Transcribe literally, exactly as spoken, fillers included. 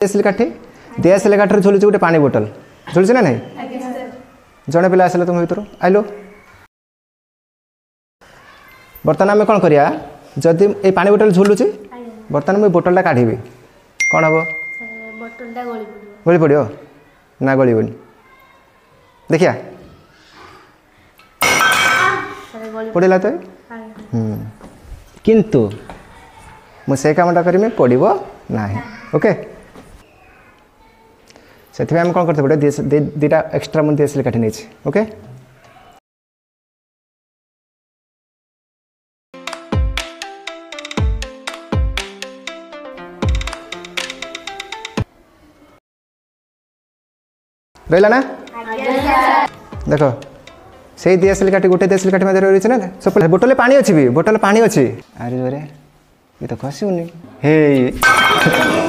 ଦିଆସିଲି କାଠି ଦିଆସିଲି କାଠିରେ ଝୁଲୁଛି ଗୋଟେ ପାଣି ବୋଟଲ ଝୁଲୁଛି ନା ନାହିଁ ଜଣେ ପିଲା ଆସିଲା ତୁମ ଭିତରୁ ଆଇଲୁ ବର୍ତ୍ତମାନ ଆମେ କ'ଣ କରିବା ଯଦି ଏଇ ପାଣି ବୋଟଲ ଝୁଲୁଛି ବର୍ତ୍ତମାନ ମୁଁ ଏ ବୋଟଲଟା କାଢ଼ିବି କ'ଣ ହେବ ବୋଟଲଟା ଗଳି ପଡ଼ିବ ଗଳି ପଡ଼ିବ ନା ଗଳିବନି ଦେଖିବା ସାର୍ ଗଳି ପଡ଼ିଲା ତ ହୁଁ କିନ୍ତୁ ମୁଁ ସେ କାମଟା କରିମି ପଡ଼ିବ ନାହିଁ ଓକେ ସେଥିପାଇଁ ଆମେ କ'ଣ କରିତେ ପଡ଼ିବ ଦୁଇଟା ଏକ୍ସଟ୍ରା ମୁଁ ଦିଆସିଲି କାଠି ନେଇଛି ଓକେ ରହିଲା ନା ଦେଖ ସେଇ ଦିଆସିଲି କାଠି ଗୋଟେ ଦିଆସିଲି କାଠି ମଧ୍ୟରେ ରହିଛି ନା ସବୁ ବୋଟଲରେ ପାଣି ଅଛି ବି ବୋଟଲରେ ପାଣି ଅଛି ଆରେ ଜୋରେ ଏ ତ ଖସିବନି ହେଇ